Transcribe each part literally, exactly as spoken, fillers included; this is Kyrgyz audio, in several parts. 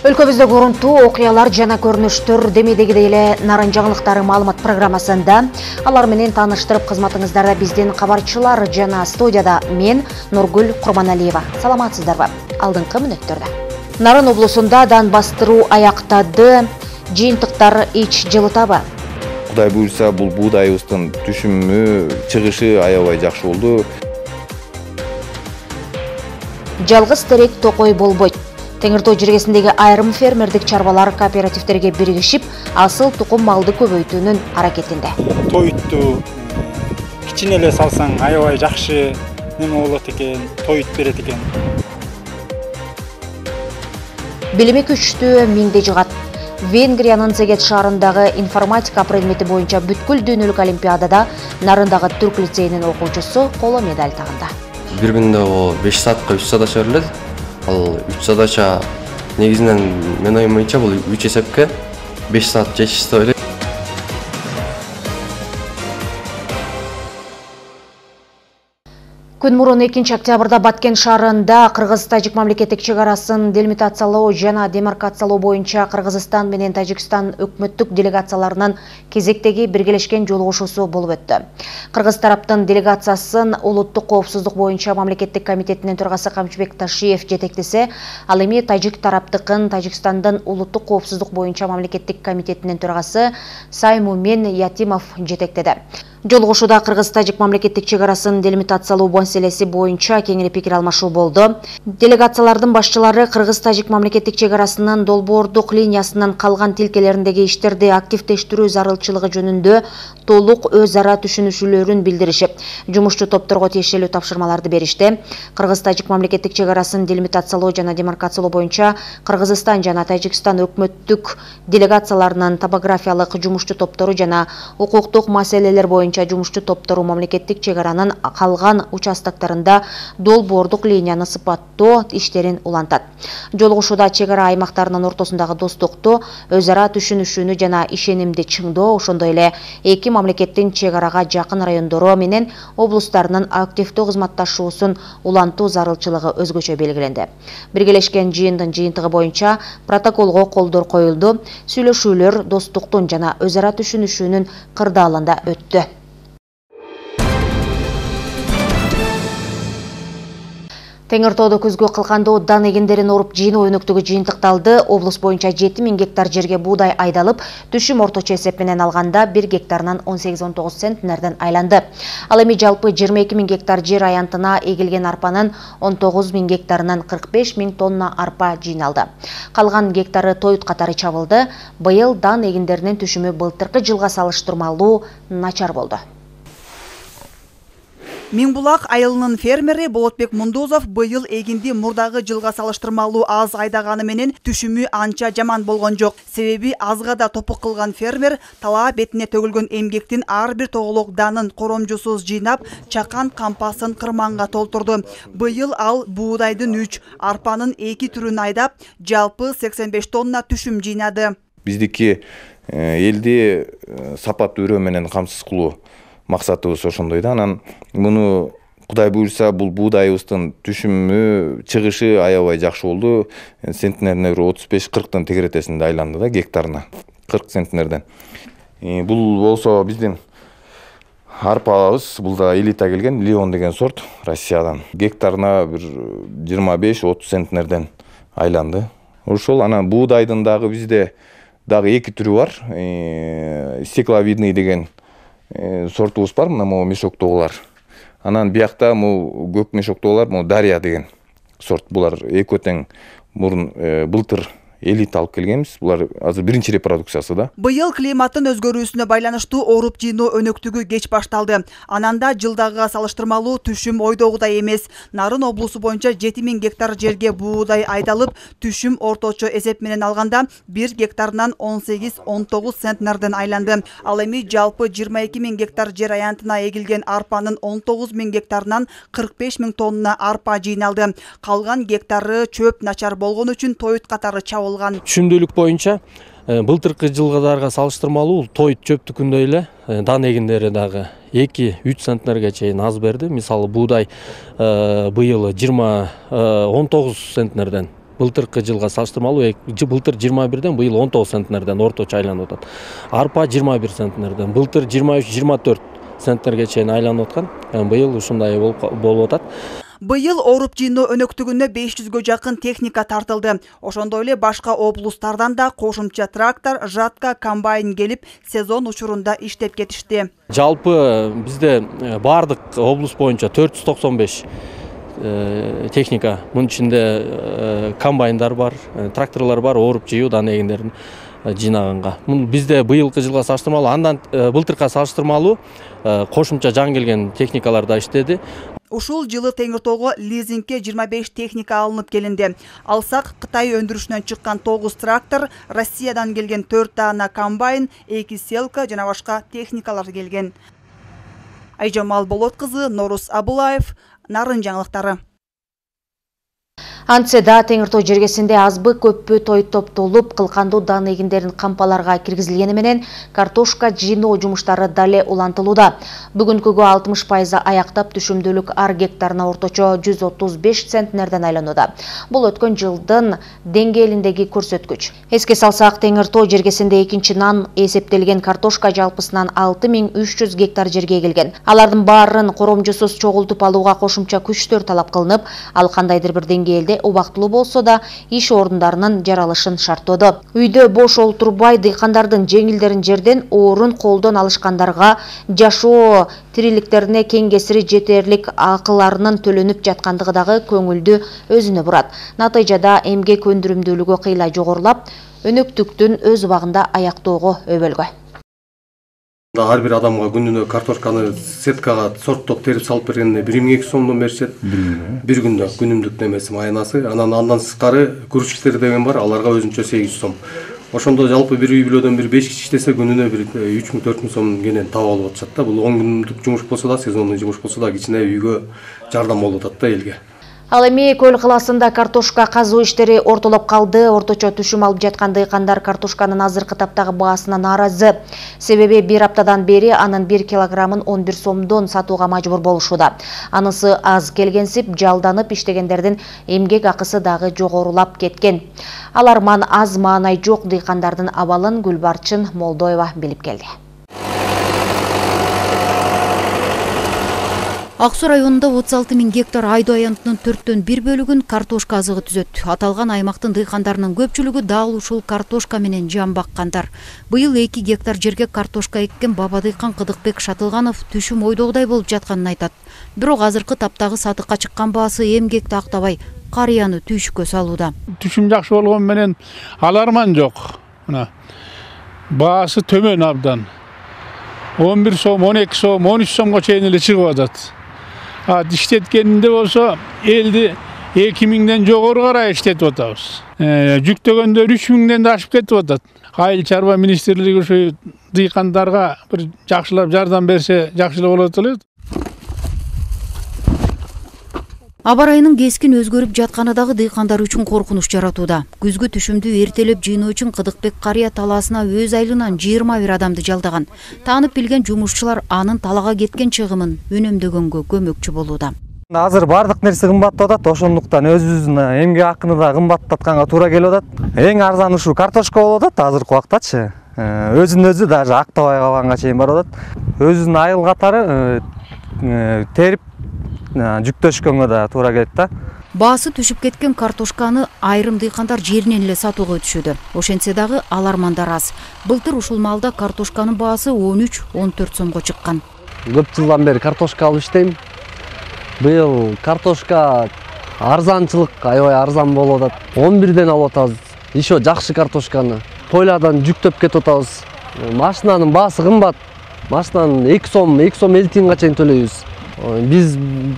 Өлкөбүздө көрүнтүү окуялар жана көрүнүштөр демедегидей эле Нарын жаңылыктары маалымат программасында алар менен тааныштырып кызматыңыздарда биздин кабарчылар жана студияда мен Нургүл Курманалиева. Саламатсыздарбы? Алдыңкы мүнөттөрдө. Нарын облусунда дан бастыруу аяктады, жыйынтыктар ич жылытабы? Кудай буйрса, бул буудайыбыздын түшүмү, чыгышы аябай жакшы болду. Жалгыз терек токой болбойт. Теңир Тоо жергесиндеги айрым фермердик чарбалар кооперативтерге биригишип, асыл тукум малды көбөйтүүнүн аракетинде. Тоютту кичине эле салсаң аябай жакшы неме болот экен, тоют берет экен. Билими күчтүү миңди жыгат. Венгриянын Сегет шаарындагы информатика предмети боюнча бүткүл дүйнөлүк олимпиадада Нарындагы түрк лицейинин окуучусу коло медаль тагында. Бир күндө беш саатка үч задача берилет. Ал үч задача негизинен мен оюм боюнча бул үч эсепке беш саат жетишти деп ойлойм. Күн мурун экинчи октябрда Баткен шаарында Кыргыз-Тажик мамлекеттик чек арасын делимитациялоо жана демаркациялоо боюнча Кыргызстан менен Тажикстан өкмөттүк делегацияларынын кезектеги биргелешкен жолугушуусу болуп өттү. Кыргыз тараптын делегациясын улуттук коопсуздук боюнча мамлекеттик комитетинин төрагасы Камчыбек Ташиев жетектесе, ал эми Тажик тараптыкын Тажикстандын улуттук коопсуздук боюнча мамлекеттик комитетинин төрагасы Саймумен Ятимов жетектеди. Жолугушууда Кыргыз-Тажик мамлекеттик чек арасын делимитациялоо маселеси боюнча кеңири пикир алмашуу болду. Делегациялардын башчылары Кыргыз-Тажик мамлекеттик чек арасынын долбоордук линиясынын калган тилкелериндеги иштерди активдештирүү зарылчылыгы жөнүндө толук өз ара түшүнүшүүлөрүн билдиришип, жумушчу топторго тиешелүү тапшырмаларды беришти. Кыргыз-Тажик мамлекеттик чек арасын делимитациялоо жана демаркациялоо боюнча Кыргызстан жана Тажикстан өкмөттүк делегацияларынын топографиялык жумушчу топтору жана укуктук маселелер боюнча жумушчу топтору мамлекеттик чек аранын калган участоктарында долбоордук линияны сыпаттоо иштерин улантат. Жолугушууда чек ара аймактарынын ортосундагы достукту, өз ара түшүнүшүүнү жана ишенимди чыңдоо, ошондой эле эки мамлекеттин чек арага жакын райондору менен облустарынын активдүү кызматташуусун улантуу зарылчылыгы өзгөчө белгиленди. Биргелешкен жыйындын жыйынтыгы боюнча протоколго колдор коюлду, сүйлөшүүлөр достуктун жана өз ара түшүнүшүүнүн кырдаалында өттү. Теңир Тоодо көзгө кылкандуу дан эгиндерин оруп жыйноо өнөктүгү жыйынтыкталды. Облус боюнча жети миң гектар жерге буудай айдалып, түшүм орточо эсеп менен алганда бир гектарынан он сегиз он тогуз центнерден айланды. Ал эми жалпы жыйырма эки миң гектар жер аянтына эгилген арпанын он тогуз миң гектарынан кырк беш миң тонна арпа жыйналды. Калган гектары тоют катары чабылды. Быйыл дан эгиндеринин түшүмү былтыркы жылга салыштырмалуу начар болду. Миңбулак айылынын фермери Болотбек Мундузов быйыл эгинди мурдагы жылга салыштырмалуу аз айдаганы менен түшүмү анча жаман болгон жок. Себеби азга да топук кылган фермер талаа бетине төгүлгөн эмгектин ар бир тоголок данын коромжусуз жыйнап, чакан кампасын кырманга толтурду. Быйыл ал буудайдын үч, арпанын эки түрүн айдап, жалпы сексен беш тонна түшүм жыйнады. Биздики элди сапаттуу өрөө менен камсыз кылуу максатыбыз ошондой да. Анан муну Кудай буйрса, бул буудайыбыздын түшүмү, чыгышы аябай жакшы болду. Центнерине отуз беш кырктын тегеретесинде айланды да, гектарына кырк центнерден. Бул болсо биздин арпабыз, бул да элита келген, Леон деген сорт, Россиядан. Гектарына бир жыйырма беш отуз центнерден айланды. Ошол анан буудайдын дагы бизде дагы эки түрү бар. Стекловидный деген сортубуз бар, мына могу мешоктогулар. Анан биякта могу көк мешоктогулар, могу Дарья деген сорт. Булар экөө тең мурун былтыр элита алып келгенбиз. Булар азыр биринчи репродукциясы да. Быйыл климаттын өзгөрүүсүнө байланыштуу оруп жыйноо өнөктүгү кеч башталды. Ананда жылдагыга салыштырмалуу түшүм ойдогудай эмес. Нарын облусу боюнча жети миң гектар жерге буудай айдалып, түшүм орточо эсеп менен алганда бир гектарынан он сегиз он тогуз центнерден айланды. Ал эми жалпы жыйырма эки миң гектар жер аянтына эгилген арпанын он тогуз миң гектарынан кырк беш миң тонна арпа жыйналды. Калган гектары чөп начар болгон үчүн тоют катары чабылды. Түшүмдүүлүк боюнча былтыркы жылдарга салыштырмалуу тоют чөптүкүндөй эле дан эгиндери дагы эки үч центнерге чейин аз берди. Мисалы буудай быйыл жыйырма он тогуз центнерден былтыркы жылга салыштырмалуу былтыр жыйырма бирден быйыл он тогуз центнерден орточо айланып атат. Арпа жыйырма бир центнерден, былтыр жыйырма үч жыйырма төрт центнерге чейин айланып аткан. Быйыл ушундай болуп атат. Быйыл ооруп жыйноо өнөктүгүнө беш жүзгө жакын техника тартылды. Ошондой эле башка облустардан да кошумча трактор, жатка, комбайн келип, сезон учурунда иштеп кетишти. Жалпы бизде бардык облус боюнча төрт жүз токсон беш техника, мунун ичинде комбайндар бар, тракторлор бар, ооруп жыйуу дан эгиндерин жыйнаганга. Бизде быйылкы жылга салыштырмалуу, андан былтырка салыштырмалуу кошумча жаңы келген техникалар да иштеди. Ушул жылы Теңиртоого лизингке жыйырма беш техника алынып келинди. Алсак, Кытай өндүрүшүнөн чыккан тогуз трактор, Россиядан келген төрт даана комбайн, эки селка жана башка техникалар келген. Айжамал Болот кызы, Норус Абылаев, Нарын жаңылыктары. Антседа Теңиртоо жергесинде азбы көппү той топтолуп, кылкандуу дан эгиндерин кампаларга киргизилгени менен картошка жыйноо жумуштары дале улантылууда. Бүгүнкүгө алтымыш пайызы аяктап, түшүмдүүлүк ар гектарына орточо жүз отуз беш центнерден айланууда. Бул өткөн жылдын деңгээлиндеги көрсөткүч. Эске салсак, Теңиртоо жергесинде экинчи нан эсептелген картошка жалпысынан алты миң үч жүз гектар жерге келген. Алардын баарын коромжусуз чогултуп алууга кошумча күчтөр талап кылынып, ал кандайдыр бир деңгээлде убактылуу болсо да иш орундарынын жаралышын шарттоодо. Үйдө бош олтурбай дыйкандардын жеңилдерин жерден орун колдон алышкандарга жашоо тириликтерине кең кесири жетерлик акыларынын төлөнүп жаткандыгы дагы көңүлдү өзүнө бурат. Натыйжада эмгек өндүрүмдүүлүгү кыйла жогорулап, өнөктүктүн өз убагында аяктоого өбөлгө. Ар бир адамга күнүнө картошканы сеткага сорттоп терип салып бергенде бир миң эки жүз сомдон беришет. Бир күндө күнүмдүк немеси майнасы, анан андан сырткары грузчиктер деген бар, аларга өзүнчө сегиз жүз сом. Ошондо жалпы бир үй бүлөдөн бир беш киши иштесе күнүнө бир үч миң төрт миң сом кенен таап алып атышат да. Бул он күндүк жумуш болсо да, сезондук жумуш болсо да кичине үйгө жардам болуп атат да элге. Ал эми Көл калаасында картошка казуу иштери ортолоп калды. Орточо түшүм алып жаткан дыйкандар картошканын азыркы таптагы баасына нааразы. Себеби бир аптадан бери анын бир килограммын он бир сомдон сатууга мажбур болушууда. Анысы аз келгенсип, жалданып иштегендердин эмгек акысы дагы жогорулап кеткен. Аларман аз маанай жок дыйкандардын абалын Гүлбарчын Молдоева билип келди. Ак Суу районунда отуз алты миң гектар айдоо аянтынын төрттөн бир бөлүгүн картошка азыгы түзөт. Аталган аймактын дыйкандарынын көпчүлүгү дал ушул картошка менен жан баккандар. Быйыл эки гектар жерге картошка эккен баба дыйкан Кыдыкбек Шатылганов түшүм ойдогудай болуп жатканын айтат. Бирок азыркы таптагы сатыкка чыккан баасы эмгекти актабай, карыяны түйшүккө салууда. Түшүм жакшы болгон менен аларман жок. Мына баасы төмөн абдан. он бир сом, он эки сом, он үч сомго чейин эле чыгып атат. Иштеткенинде болсо элди эки миңден жогору карай иштетип атабыз. Жүктөгөндөр үч миңден да ашып кетип атат. Айыл чарба министрлиги ушу дыйкандарга бир жакшылап жардам берсе жакшы эле болот эле. Аба ырайынын кескин өзгөрүп жатканы дагы дыйкандар үчүн коркунуч жаратууда. Күзгү түшүмдү эртелеп жыйноо үчүн Кыдыкбек карыя талаасына өз айылынан жыйырма бир адамды жалдаган. Таанып билген жумушчулар анын талага кеткен чыгымын үнөмдөгөнгө көмөкчү болууда. Азыр бардык нерсе кымбаттап атат, ошондуктан өзүбүздүн эмгек акыны да кымбаттатканга туура келип атат. Эң арзан ушул картошка болуп атат азыркы убактачы. Өзүн өзү даже актабай калганга чейин барып атат. Өзүнүн айыл катары терип жүктөшкөнгө да туура келет да. Баасы түшүп кеткен картошканы айрым дыйкандар жеринен эле сатууга өтүшүүдө. Ошентсе дагы алармандар аз. Былтыр ушул маалда картошканын баасы он үч он төрт сомго чыккан. Көп жылдан бери картошка алып иштейм. Быйыл картошка арзанчылык аябай арзан болуп атат. он бирден алып атабыз. Ишо жакшы картошканы. Тойлардан жүктөп кетип атабыз. Машинанын баасы кымбат. Машинанын эки сом, эки сом элүү тиынга чейин төлөйбүз. Биз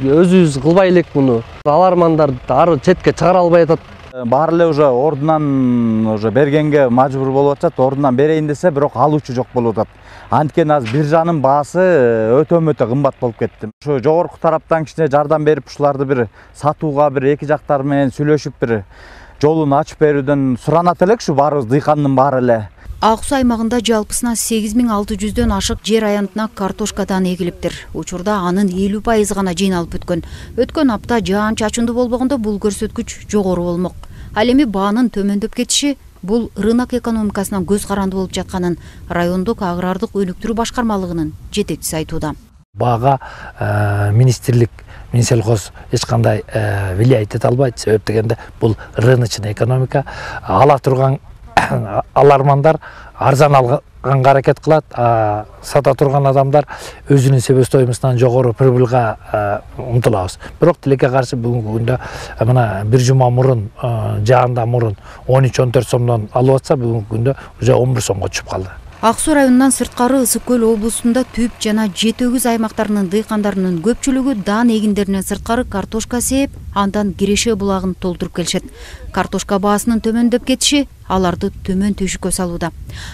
өзүбүз кылбай элек муну. Алармандар ары четке чыгара албай атат. Баары эле уже ордунан уже бергенге мажбур болуп атат. Ордунан берейин десе, бирок алуучу жок болуп атат. Анткени азыр биржанын баасы өтө-мөтө кымбат болуп кетти. Ошо жогорку тараптан кичине жардам берип, ушуларды бир сатууга бир эки жактар менен сүйлөшүп бир жолун ачып берүүдөн суранат элек ушу баарыбыз дыйкандын баары эле. Ак Суу аймагында жалпысынан сегиз миң алты жүздөн ашык жер аянтына картошкадан эгилиптир. Учурда анын элүү пайызы гана жыйналып бүткөн. Өткөн апта жаан чачындуу болбогондо бул көрсөткүч жогору болмок. Ал эми баанын төмөндөп кетиши бул рынок экономикасына көз каранды болуп жатканын райондук агрардык өнүктүрүү башкармалыгынын жетекчиси айтууда. Бага министрлик Минсельхоз эч кандай влиять эте албайт. Себеп дегенде бул рыночный экономика. Ала турган алармандар арзан алганга аракет кылат, сата турган адамдар өзүнүн себестоимостунан жогору прибылга умтулабыз. Бирок тилекке каршы бүгүнкү күндө мына бир жума мурун, жаанда мурун он үч он төрт сомдон алып атса, бүгүнкү күндө уже он бир сомго түшүп калды. Ак Суу районунан сырткары Ысык көл облусунда түп жана жети өгүз аймактарынын дыйкандарынын көпчүлүгү даан эгиндеринен сырткары картошка сээп, андан Киреше булагын толтуруп келишет. Картошка баасынын төмөндөп кетиши аларды төмөн төшүккө салууда.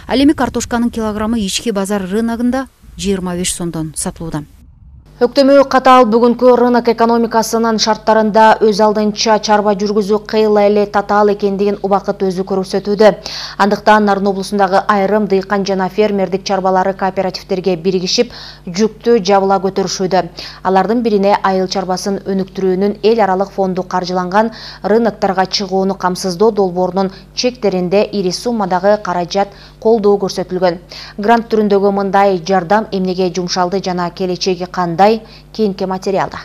Ал эми картошканын килограммы ички базар рыногунда жыйырма беш сомдон сатылууда. Өктөмүү катаал бүгүнкү рынок экономикасынын шарттарында өз алдынча чарба жүргүзүү кыйла эле татаал экендигин убакыт өзү көрсөтүүдө. Андыктан Нарын облусундагы айрым дыйкан жана фермердик чарбалары кооперативтерге биригишип, жүктү жабыла көтөрүшүүдө. Алардын бирине айыл чарбасын өнүктүрүүнүн эл аралык фонду каржыланган рынокторго чыгууну камсыздоо долбоорунун чектеринде ири суммадагы каражат колдоо көрсөтүлгөн. Грант түрүндөгү мындай жардам эмнеге жумшалды жана келечеги кандай? Кийинки материалда.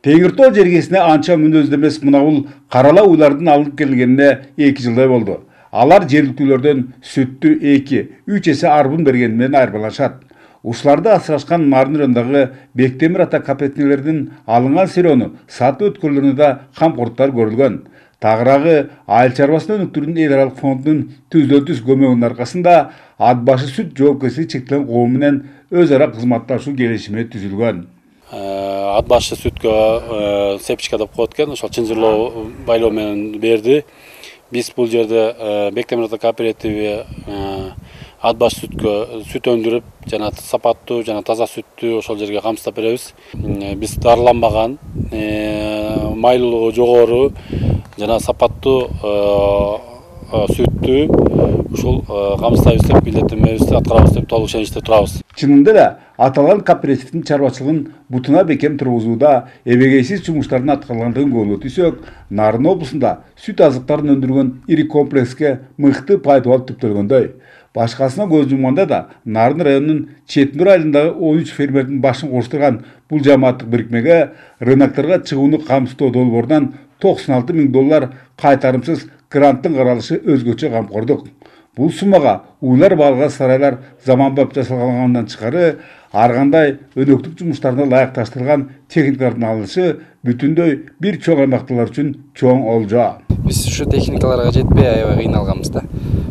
Теңир тоо жергесине анча мүнөздүү эмес мына бул карала уйлардын алынып келгенине эки жылдай болду. Алар жергиликтүүлөрдөн сүттү эки үч эсе арбын бергени менен айырмалашат. Ушуларды асырашкан Нарын районундагы Бектемир ата кооперативлеринин алынган сыйроону сатып өткөрүлөрүнө да камкордуктар көрүлгөн. Тагыраагы айыл чарбасын өнүктүрүүнүн эл аралык фондунун түздөн түз көмөгүнүн аркасында ат башы сүт жоопкерчилиги чектелген коом менен өз ара кызматташуу келишими түзүлгөн. Ат башы сүткө сепчика деп коет экен, ошол чынжырлоо байлоо менен берди. Биз бул жерде Бектемир ата кооперативи ат башы сүткө сүт өндүрүп, жана сапаттуу жана таза сүттү ошол жерге камсыздап беребиз. Биз дарыланбаган, майлуулугу жогору жана сапаттуу сүттү ушул камсыздайбыз деп милдеттенмебизди аткарабыз деп толук ишеничте турабыз. Чынында да аталган кооперативдин чарбачылыгын бутуна бекем тургузууда эбегейсиз жумуштардын аткарылгандыгын көрүп өтсөк, Нарын облусунда сүт азыктарын өндүргөн ири комплекске мыкты пайдалуу түптөлгөндөй. Башкасына көз жумганда да Нарын районунун Четнур айылындагы он үч фермердин башын коштурган бул жамааттык бирикмеге рынокторго чыгууну камсыздоо долбоорунан токсон алты миң доллар кайтарымсыз гранттын каралышы өзгөчө камкордук. Бул суммага уйлар балга сарайлар заманбап жасалгандан тышкары ар кандай өнөктүк жумуштарына ылайыкташтырылган техникалардын алынышы бүтүндөй бир чоң аймактагылар үчүн чоң олжо. Биз ушу техникаларга жетпей аябай кыйналганбыз да.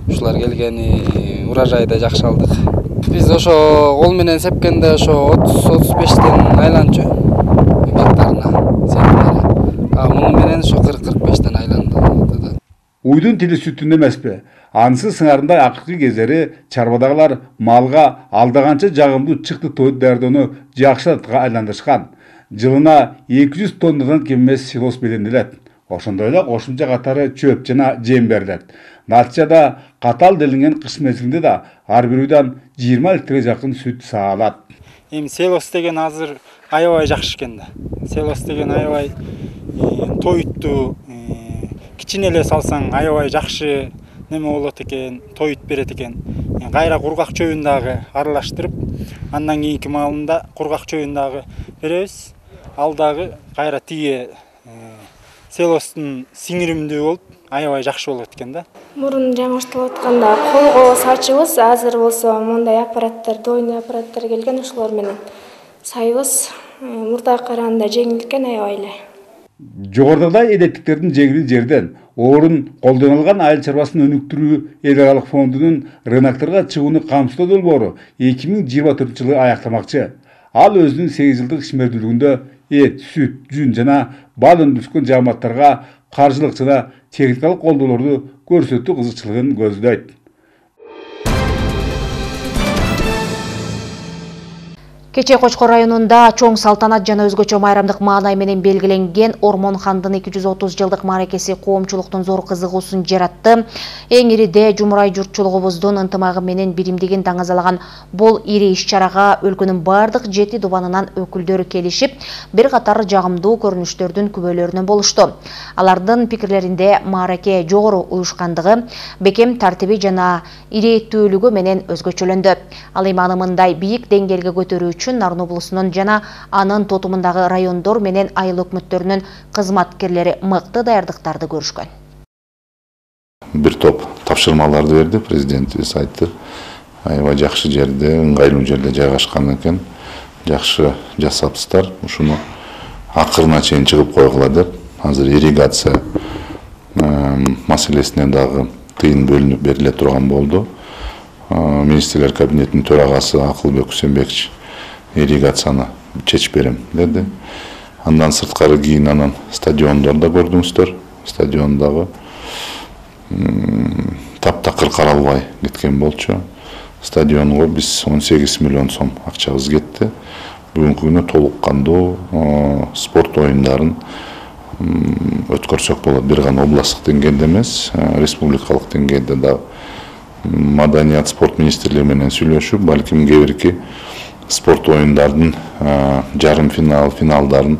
Ушулар келгени урожайды жакшы алдык. Биз ошо кол менен сепкенде ошо отуз отуз бештен айланчу гектарына сепкенде. А муну менен ошо кырк кырк бештен айланды. Уйдун тили сүттүндө эмеспи? Анысы сыңарындай акыркы кездери чарбадагылар малга алдаганча жагымдуу чыкты тойду даярдоону жакшы адатка айландырышкан. Жылына эки жүз тоннадан кем эмес силос беленделет. Ошондой эле кошумча катары чөп жана жем берилет. Натыйжада катаал делинген кыш мезгилинде да ар бир үйдөн жыйырма литрге жакын сүт саалат. Эми селос деген азыр аябай жакшы экен да. Селос деген аябай тоюттуу, кичине эле салсаң аябай жакшы неме болот экен, тоют берет экен. Кайра кургак чөбүн дагы аралаштырып, андан кийинки маалында кургак чөбүн дагы беребиз. Ал дагы кайра тиги селостун сиңиримдүү болуп, аябай жакшы болот экен да. Мурун жаңыртылып атканда колго сачыбыз, азыр болсо мондай аппараттар, дойный аппараттар келген, ошолор менен сайбыз. Мурдага караганда жеңил экен аябай эле. Жогорудагы эдеттиктердин жеңили жерден орун колдонулган айыл чарбасын өнүктүрүү эл аралык фондунун рынокторго чыгууну камсыздоо долбоору эки миң жыйырма төртүнчү жылы аякталмакчы. Ал өзүнүн сегиз жылдык ишмердүүлүгүндө эт, сүт, жүн жана бал өндүрүшкөн жааматтарга каржылык жана техникалык колдоолорду көрсөтүү кызыкчылыгын көздөйт. Кече Кочкор районунда чоң салтанат жана өзгөчө майрамдык маанай менен белгиленген Ормон хандын эки жүз отуз жылдык мааракеси коомчулуктун зор кызыгуусун жаратты. Эң ириде жумурай журтчулугубуздун ынтымагы менен биримдигин даңазалаган бул ири иш-чарага өлкөнүн бардык жети дубанынан өкүлдөрү келишип, бир катар жагымдуу көрүнүштөрдүн күбөлөрүнөн болушту. Алардын пикирлеринде маараке жогору уюшкандыгы, бекем тартиби жана ирээттүүлүгү менен өзгөчөлөндү. Ал эми аны мындай бийик деңгээлге көтөрүү үчүн Нарын облусунун жана анын тотумундагы райондор менен айыл өкмөттөрүнүн кызматкерлери мыкты даярдыктарды көрүшкөн. Бир топ тапшырмаларды берди, президентибиз айтты. Аябай жакшы жерде, ыңгайлуу жерде жайгашкан экен. Жакшы жасапсыздар. Ушуну акырына чейин чыгып койгула деп, азыр ирригация маселесине дагы тыйын бөлүнүп бериле турган болду. Министрлер кабинетинин төрагасы Акылбек Усенбекович ирригацияны чечип берем деди. Андан сырткары кийин анан стадиондорду көрдүңүздөр. Стадиондагы таптакыр каралбай кеткен болчу. Стадионго биз он сегиз миллион сом акчабыз кетти. Бүгүнкү күнү толук кандуу спорт оюндарын өткөрсөк болот. Бир гана областтык деңгээлде эмес, республикалык деңгээлде да Маданият спорт министрлиги менен сүйлөшүп, балким кээ бирки спорт оюндардын жарым финал, финалдарын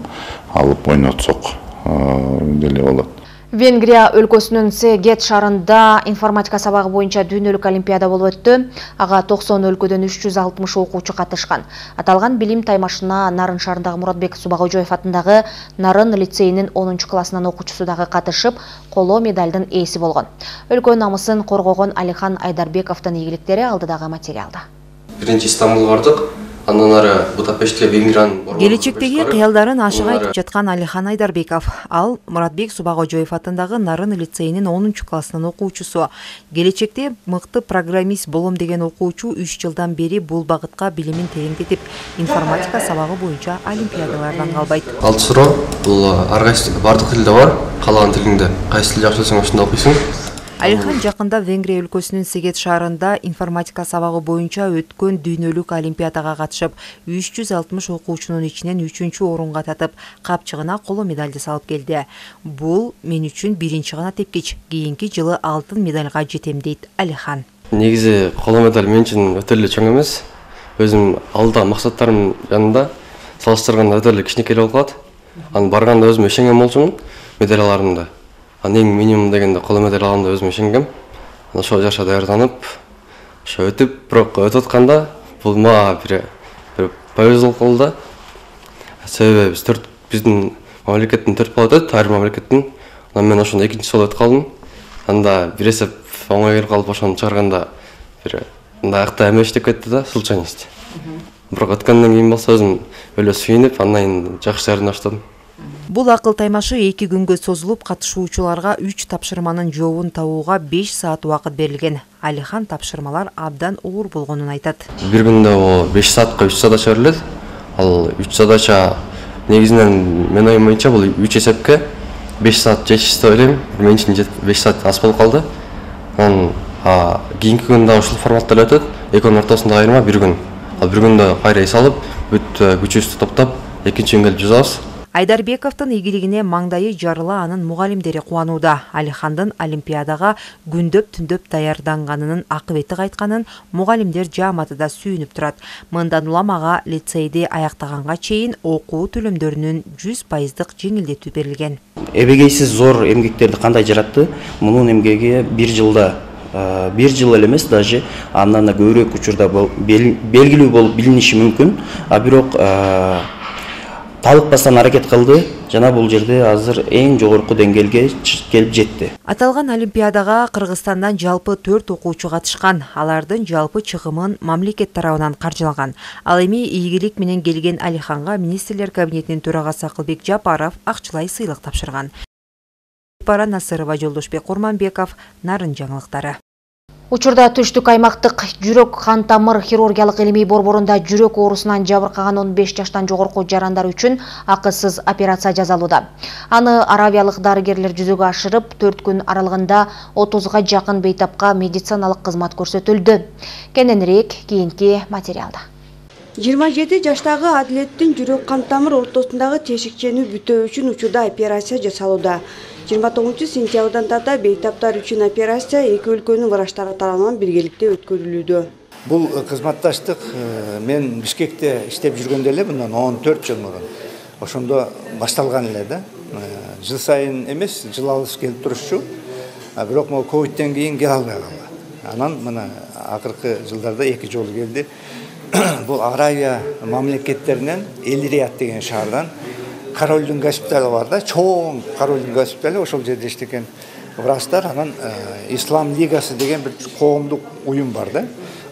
алып ойнотсок деле болот. Венгрия өлкөсүнүн Сегет шаарында информатика сабагы боюнча дүйнөлүк олимпиада болуп өттү. Ага токсон өлкөдөн үч жүз алтымыш окуучу катышкан. Аталган билим таймашына Нарын шаарындагы Муратбек Субагожоев атындагы Нарын лицейинин онунчу классынын окуучусу дагы катышып, коло медалдын ээси болгон. Өлкө намысын коргогон Алихан Айдарбековдун ийгиликтери алдыдагы материалда. Биринчи Стамбулга бардык. Андан ары Будапештке Венгриянын келечектеги кыялдарын ашык айтып жаткан Алихан Айдарбеков. Ал Муратбек Субагожоев атындагы Нарын лицейинин онунчу классынын окуучусу. Келечекте мыкты программист болом деген окуучу үч жылдан бери бул багытка билимин тереңдетип, информатика сабагы боюнча олимпиадалардан калбайт. Алты суроо бул ар кайсы бардык тилде бар, каалаган тилиңде кайсы тил жакшы билсең ошондо окуйсуң. Алихан жакында Венгрия өлкөсүнүн Сегет шаарында информатика сабагы боюнча өткөн дүйнөлүк олимпиадага катышып, үч жүз алтымыш окуучунун ичинен үчүнчү орунга татып, капчыгына коло медалды салып келди. Бул мен үчүн биринчи гана тепкич. Кийинки жылы алтын медальга жетем дейт Алихан. Негизи коло медаль мен үчүн өтө эле чоң эмес. Өзүм алдагы максаттарым жанында салыштырганда өтө эле кичинекей болуп калат. Анан барганда өзүм ишенген болчумун медаль аларымда. Эң минимум дегенде коло медаль аламда өзүм ишенгем. Ошол жаша даярданып, ошо өтүп, бирок өтүп атканда бул мага бир бир повезло болду. Себеби биз төрт биздин мамлекеттин төрт бала өтөт, ар мамлекеттин. Анан мен ошондо экинчи жолу өтүп калдым. Анда бир эсеп оңой келип калып ошону чыгарганда бир мындай акта эмеш деп кетти да, случайность. Бирок өткөндөн кийин болсо өзүм өлө сүйүнүп, андан кийин жакшы даярдана баштадым. Бул акыл таймашы эки күнгө созулуп, катышуучуларга үч тапшырманын жообун табууга беш саат убакыт берилген. Алихан тапшырмалар абдан оор болгонун айтат. Бир күндө беш саатка үч задача берилет. Ал үч задача негизинен мен оюм боюнча бул үч эсепке беш саат жетишти деп ойлойм. Мен үчүн беш саат аз болуп калды. Анан кийинки күндө ушул форматта эле өтөт. Экөөнүн ортосунда айырма бир күн. Ал бир күндө кайра эс алып, бүт күчүбүздү топтоп, экинчи күнгө келип жазабыз. Айдарбековдун ийгилигине маңдайы жарыла анын мугалимдери кубанууда. Алихандын олимпиадага күндөп-түндөп даярданганынын акыбети кайтканын мугалимдер жааматы да сүйүнүп турат. Мындан улам ага лицейди аяктаганга чейин окуу төлөмдөрүнүн жүз пайыздык жеңилдетүү берилген. Эбегейсиз зор эмгектерди кандай жаратты? Мунун эмгеги бир жылда бир жыл эле эмес, даже андан да көбүрөөк учурда белгилүү болуп билиниши мүмкүн. А бирок талыкпастан аракет кылды жана бул жерде азыр эң жогорку деңгээлге келип жетти. Аталган олимпиадага Кыргызстандан жалпы төрт окуучу катышкан. Алардын жалпы чыгымын мамлекет тарабынан каржылаган. Ал эми ийгилик менен келген Алиханга министрлер кабинетинин төрагасы Акылбек Жапаров акчылай сыйлык тапшырган. Бара Насырова, Жолдошбек Курманбеков, Нарын жаңылыктары. Учурда түштүк аймактык жүрөк кан тамыр хирургиялык илимий борборунда жүрөк оорусунан жабыркаган он беш жаштан жогорку жарандар үчүн акысыз операция жасалууда. Аны аравиялык дарыгерлер жүзөгө ашырып, төрт күн аралыгында отузга жакын бейтапка медициналык кызмат көрсөтүлдү. Кененирээк кийинки материалда. жыйырма жети жаштагы Адилеттин жүрөк кан тамыр ортосундагы тешикчени бүтөө үчүн учурда операция жасалууда. жыйырма тогузунчу сентябрдан тарта бейтаптар үчүн операция эки өлкөнүн врачтары тарабынан биргеликте өткөрүлүүдө. Бул кызматташтык мен Бишкекте иштеп жүргөндө эле мындан он төрт жыл мурун ошондо башталган эле да. Жыл сайын эмес, жыл алыс келип турушчу. Бирок могу ковидтен кийин келе албай калды. Анан мына акыркы жылдарда эки жолу келди. Бул Аравия мамлекеттеринен Эль-Рият деген шаардан Корольдун госпиталы бар да, чоң Корольдун госпиталы, ошол жерде иштеген врачтар, анан Ислам лигасы деген бир коомдук уюм бар да.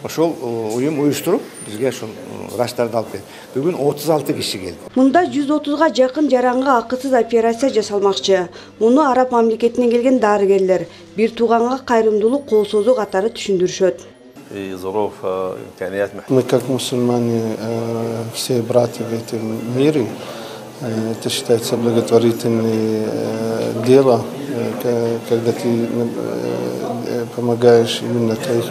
Ошол уюм уюштуруп бизге ошол врачтарды алып келди. Бүгүн отуз алты киши келди. Мында жүз отузга жакын жаранга акысыз операция жасалмакчы. Муну Араб мамлекетинен келген дарыгерлер бир тууганга кайрымдуулук кол созуу катары түшүндүрүшөт. Мы как мусульмане все братья в этом мире. Это считается благотворительное дело, когда ты помогаешь именно твоих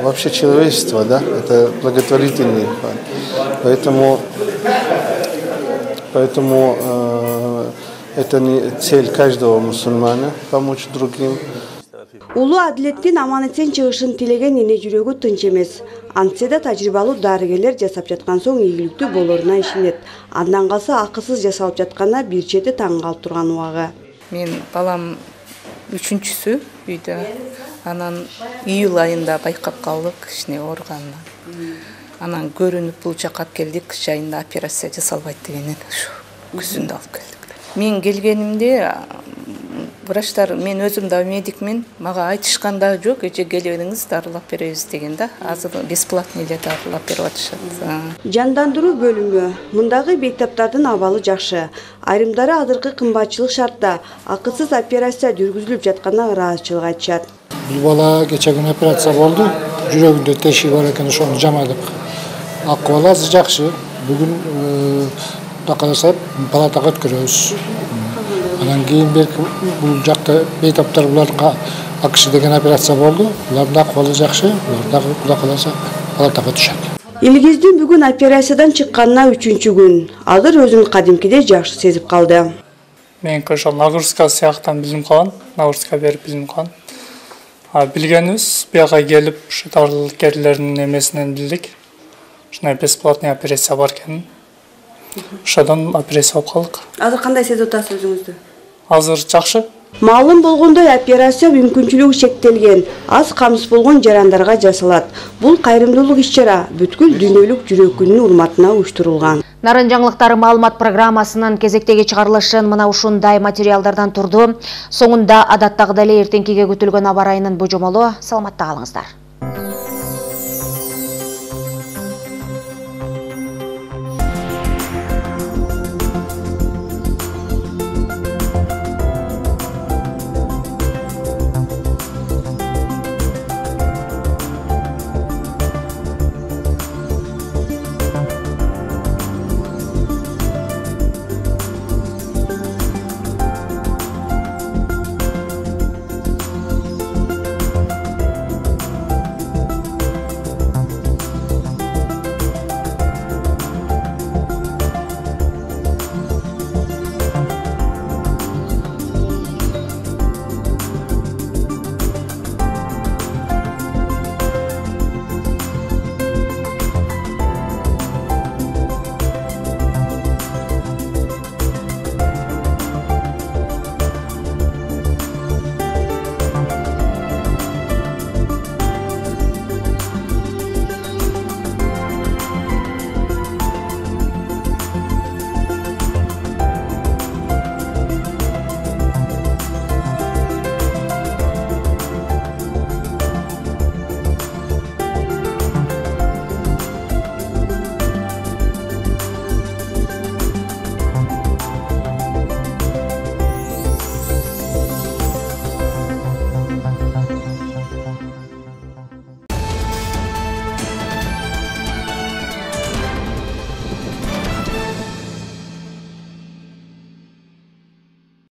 вообще человечество, да, это благотворительный. Поэтому, поэтому э, это не цель каждого мусульмана помочь другим. Улуу Адилеттин аман-эсен чыгышын тилеген эне жүрөгү тынч эмес. Антсе да тажрыйбалуу дарыгерлер жасап жаткан соң ийгиликтүү болоруна ишенет. Андан калса акысыз жасалып жатканына бир чети таң калып турган убагы. Мен балам үчүнчүсү үйдө. Анан июль айында байкап калдык кичине ооруганын. Анан көрүнүп бул жакка алып келдик, кыш айында операция жасалбайт дегенен ушу күзүндө алып келдик. Мен келгенимде врачтар, мен өзүм да медикмин, мага айтышкан да жок, эже келиңиз дарылап беребиз деген да. Азыр бесплатный эле дарылап берип атышат. Жандандыруу бөлүмү. Мындагы бейтаптардын абалы жакшы. Айрымдары азыркы кымбатчылык шартта акысыз операция жүргүзүлүп жатканына ыраазычылык айтышат. Бул бала кече күнү операция болду. Жүрөгүндө тешиги бар экен, ошону жамадык. Акыбалы азыр жакшы. Бүгүн Кудай кааласа палатага өткөрөбүз. Анан кийин берки бул жакта бейтаптар буларга акш деген операция болду. Булардын акыбалы жакшы. Булар дагы Кудай кааласа палатага түшөт. Илгиздин бүгүн операциядан чыкканына үчүнчү күн. Азыр өзүн кадимкидей жакшы сезип калды. Мен ошол нагрузка сыяктан билим калган, нагрузка берип билим калган. А билгенибиз бияка келип ушу дарыгерлердин эмесинен билдик. Ушундай бесплатный операция бар экенин. Ошодон операция болуп калдык. Азыр кандай сезип атасыз өзүңүздү? Азыр жакшы. Маалым болгондой операция мүмкүнчүлүгү чектелген, аз камсыз болгон жарандарга жасалат. Бул кайрымдуулук иш-чара бүткүл дүйнөлүк жүрөк күнүнүн урматына уюштурулган. Нарын жаңылыктары маалымат программасынын кезектеги чыгарылышын мына ушундай материалдардан турду. Соңунда адаттагыдай эле эртеңкиге күтүлгөн аба ырайынын божомолу. Саламатта калыңыздар.